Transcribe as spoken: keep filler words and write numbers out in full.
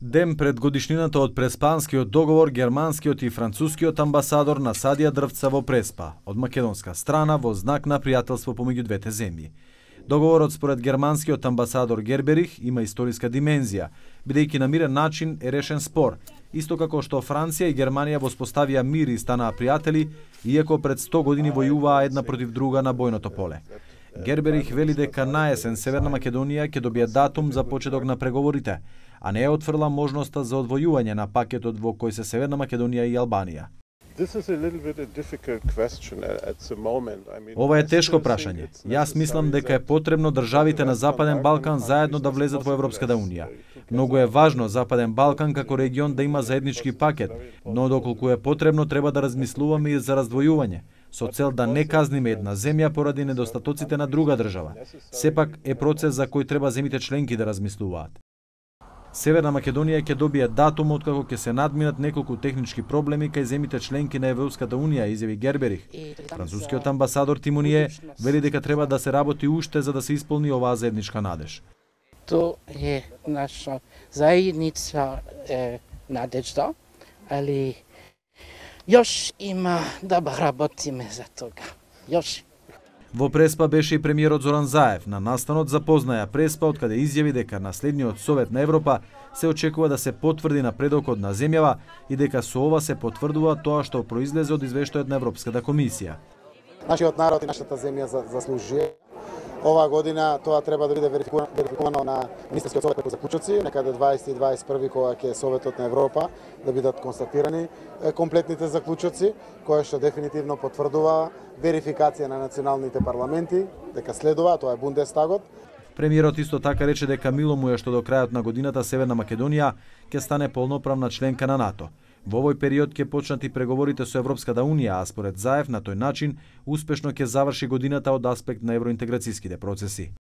Ден пред годишнината од Преспанскиот договор, германскиот и францускиот амбасадор насадија дрвца во Преспа, од македонска страна во знак на пријателство помеѓу двете земји. Договорот според германскиот амбасадор Герберих има историска димензија, бидејќи на мирен начин е решен спор, исто како што Франција и Германија воспоставија мир и станаа пријатели, иако пред сто години војуваа една против друга на бојното поле. Герберих вели дека наесен Северна Македонија ќе добие датум за почеток на преговорите, а не отфрла можноста за одвојување на пакетот во кој се Северна Македонија и Албанија. Ова е тешко прашање. Јас мислам дека е потребно државите на Западен Балкан заедно да влезат во Европската унија. Многу е важно Западен Балкан како регион да има заеднички пакет, но доколку е потребно треба да размислуваме и за раздвојување, со цел да не казниме една земја поради недостатоците на друга држава. Сепак е процес за кој треба земите членки да размислуваат. Северна Македонија ќе добие датум откако ќе се надминат неколку технички проблеми кај земите членки на Европската унија, изјави Герберих. Францускиот амбасадор Тимоние вели дека треба да се работи уште за да се исполни оваа заедничка надеж. To je naša zajednica e, nadežda, ali još ima da работиме за тога. Još. Во Преспа беше и премиерот Зоран Заев. На настанот запознаја Преспа, откаде изјави дека на следниот Совет на Европа се очекува да се потврди напредокот на земјава и дека со ова се потврдува тоа што произлезе од извештајот на Европската комисија. Нашиот народ и нашата земја заслужија. Оваа година тоа треба да биде верификувано на Министерскиот совет преку заклучоци, некаде дваесети и дваесет и први кога ќе Советот на Европа да бидат констатирани комплетните заклучоци, кои што дефинитивно потврдува верификација на националните парламенти, дека следува, тоа е Бундестагот. Премиерот исто така рече дека мило му е што до крајот на годината Северна Македонија ќе стане полноправна членка на НАТО. Во овој период ќе почнат и преговорите со Европската унија, а според Заев на тој начин успешно ќе заврши годината од аспект на евроинтеграцијските процеси.